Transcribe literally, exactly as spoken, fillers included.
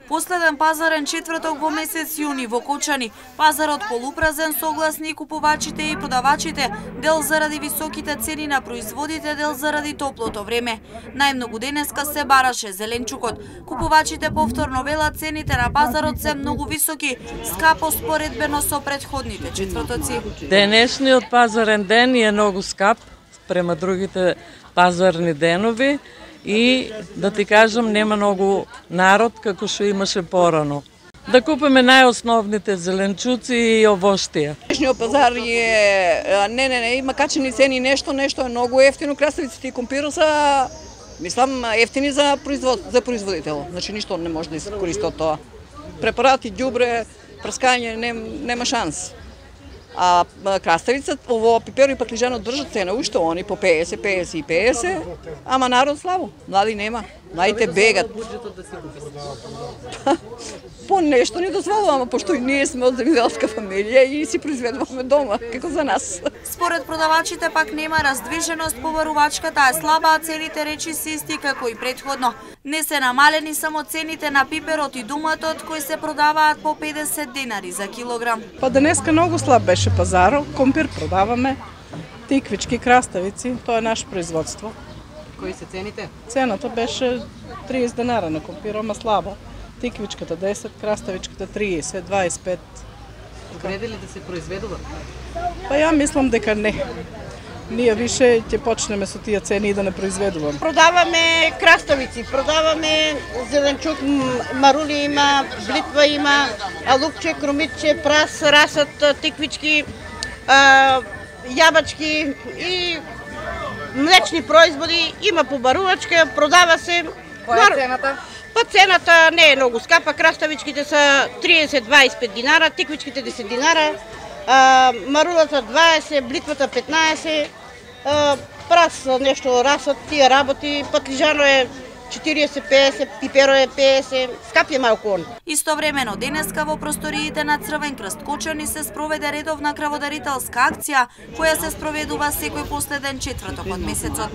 Последен пазарен четврток во месец јуни во Кочани. Пазарот полупразен, согласни и купувачите и продавачите, дел заради високите цени на производите, дел заради топлото време. Најмногу денеска се бараше зеленчукот. Купувачите повторно велат цените на пазарот се многу високи, скапо споредбено со претходните четвртоци. Денешниот пазарен ден е многу скап према другите пазарни денови. И да ти кажам, нема многу народ како што имаше порано. Да купиме најосновните зеленчуци и овоштија. Денешниот пазар е не не не има качени цени, нешто нешто е многу ефтино, краставиците и компирот се мислам ефтини за производ за производител. Значи ништо не може да се користи од тоа. Препарати, ѓубре, прскање нем, нема шанс. А краставица, ово пиперо и паклижано држат цена уште, они по песет, песет и песет, ама народ слабо, млади нема, младите бегат. По нешто ни дозволуваме, пошто и ние сме од земјоделска фамилија и си произведуваме дома, како за нас. Според продавачите пак нема раздвиженост, побарувачката е слаба, а цените речи се исти како и претходно. Не се намалени само цените на пиперот и думатот, кои се продаваат по педесет денари за килограм. Па денеска многу слаб беше пазарот, компир продаваме, тиквички, краставици, тоа е наше производство. Кои се цените? Цената беше триесет денара на компир, ама слабо. Тиквичката десет, краставичката триесет, дваесет и пет. Вреди ли да се произведува? Па ја мислам дека не. Ние више ќе почнеме со тие цени и да не произведуваме. Продаваме краставици, продаваме зеленчук, марули има, блитва има, лукче, крумитче, прас, расат, тиквички, јабачки и млечни производи, има побарувачка, продава се. Која е цената? Па цената не е многу скапа, краставичките са триесет до дваесет и пет динара, тиквичките десет динара, а, марулата дваесет, блитвата петнаесет, а, прас нешто расат, тие работи, патлижано е четириесет до песет, пиперо е песет, скап е малку он. Истовремено денеска во просториите на Црвен крст Кочани се спроведе редовна крводарителска акција, која се спроведува секој последен четврток од месецот.